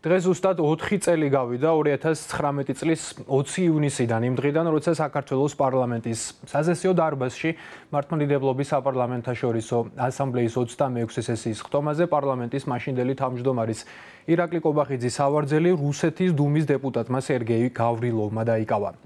დღეს ზუსტად 4 წელი გავიდა 2019 წლის 20 ივნისიდან იმ დღიდან, როცა საქართველოს პარლამენტის სასესიო დარბაზში მართლმადიდებლობის საპარლამენტაშორისო ასამბლეის 26 სესიის ხტომაზე პარლამენტის მაშინდელი თავმჯდომარის ირაკლი კობახიძის სავარძელი რუსეთის დუმის დეპუტატმა სერგეი გავრილოვმა დაიკავა.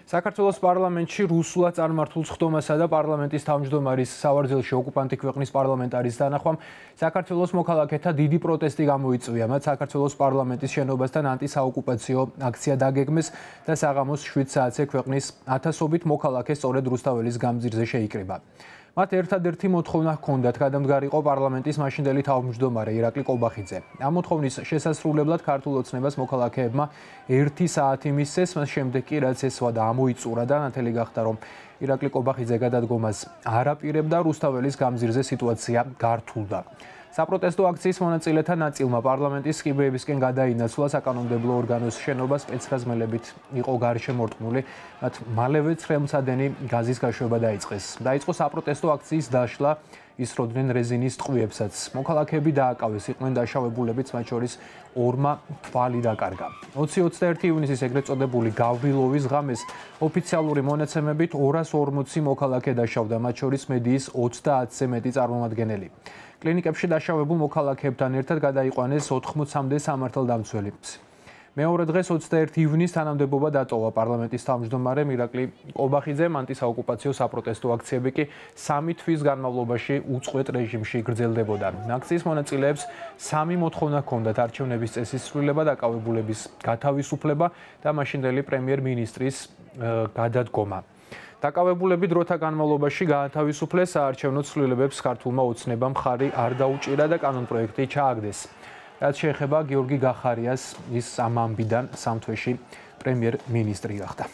საქართველოს პარლამენტში რუსულად წარმართულ ხტომასა და პარლამენტის თავმჯდომარის სავარძელში ოკუპანტი ქვეყნის პარლამენტარის დანახვამ საქართველოს მოქალაქეთა დიდი პროტესტი გამოიწვია. მათ საქართველოს პარლამენტის შენობასთან ანტისაოკუპაციო აქცია დაგეგმეს და საღამოს 7 საათზე ქვეყნის ათასობით მოქალაქე სწორედ რუსთაველის გამზირზე შეიკრიბა. მათ ერთადერთი მოთხოვნა ჰქონდათ გადამდგარიყო პარლამენტის მაშინდელი თავმჯდომარე ირაკლი კობახიძე. ამ მოთხოვნის შესასრულებლად ქართულ ოცნებას მოქალაქეებმა 1 საათი მისცეს, მას შემდეგ კი რაც ეს ვადა ამოიწურა და ნათელი გახდა, რომ ირაკლი კობახიძე გადადგომას არ აპირებდა, რუსთაველის გამზირზე სიტუაცია გართულდა. საპროტესტო აქციის მონაწილეთა ნაწილმა პარლამენტის სკიბეებისკენ გადაინაცვლა საკანონმდებლო ორგანოს შენობა სპეცრაზმელებით იყო გარშემორტყმული, მათ მალევე ცხელმცადენი გაზის გაშვება დაიწყეს. დაიწყო საპროტესტო აქციის დაშლა, ისროდნენ რეზინის ტყვიებსაც. მოქალაქეები დააკავეს, იყვნენ დაშავებულებიც, მათ შორის 2 თვალი დაკარგა. 20-21 ივნისის ეგრეთ წოდებული გავრილოვის ღამეს ოფიციალური მონაცემებით 240 მოქალაქე დაშავდა, მათ შორის მედიის 30-ზე მეტი წარმომადგენელი. კლინიკებში დაშავებულ მოქალაქეებთან ერთად გადაიყვანეს 80-მდე სამართალდამცველი. მეორე დღეს 21 ივნისს თანამდებობა დატოვა პარლამენტის თავმჯდომარემ ირაკლი კობახიძემ. ანტისაოკუპაციო საპროტესტო აქციები კი 3 თვის განმავლობაში უწყვეტ რეჟიმში გრძელდებოდა. აქციის მონაწილეებს 3 მოთხოვნა ჰქონდათ: არჩევნების წესის ცვლილება, დაკავებულების გათავისუფლება და მაშინდელი პრემიერ-მინისტრის გადადგომა. დაკავებულები დროთა განმავლობაში გაათავისუფლეს, საარჩევნო ცვლილებებს ქართულმა ოცნებამ მხარი არ დაუჭირა და კანონპროექტი ჩააგდეს. რაც შეეხება გიორგი გახარიას, ის ამ ამბიდან 3 თვეში პრემიერ-მინისტრი გახდა.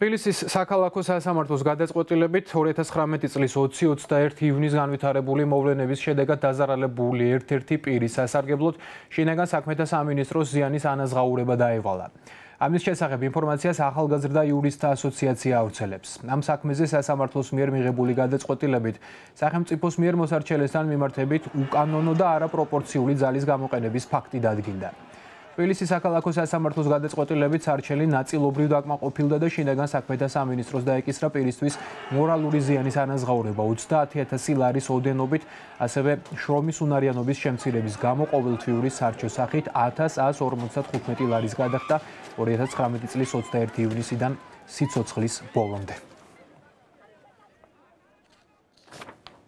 თბილისის საქალაქო სასამართლოს გადაწყვეტილებით 2019 წლის 20-21 ივნისს განვითარებული მოვლენების შედეგად დაზარალებული ერთ-ერთი პირის სასარგებლოდ შინაგან საქმეთა სამინისტროს ზიანის ანაზღაურება დაევალა. ამის შესახებ ინფორმაციას ახალგაზრდა იურისტთა ასოციაცია ავრცელებს. ამ საქმეზე სასამართლოს მიერ მიღებული გადაწყვეტილებით სახელმწიფოს მიერ მოსარჩელესთან მიმართებით უკანონო და არაპროპორციული ძალის გამოყენების ფაქტი დადგინდა. თბილისის საქალაქო სასამართლოს გადაწყვეტილებით სარჩელი ნაწილობრივ დაკმაყოფილდა და შინაგან საქმეთა სამინისტროს დაეკისრა პირისთვის მორალური ზიანის ანაზღაურება 30,000 ლარის ოდენობით, ასევე შრომის უნარიანობის შემცირების გამო ყოველთვიური სარჩოს სახით 1155 ლარის გადახდა 2019 წლის 21 ივნისიდან სიცოცხლის ბოლომდე.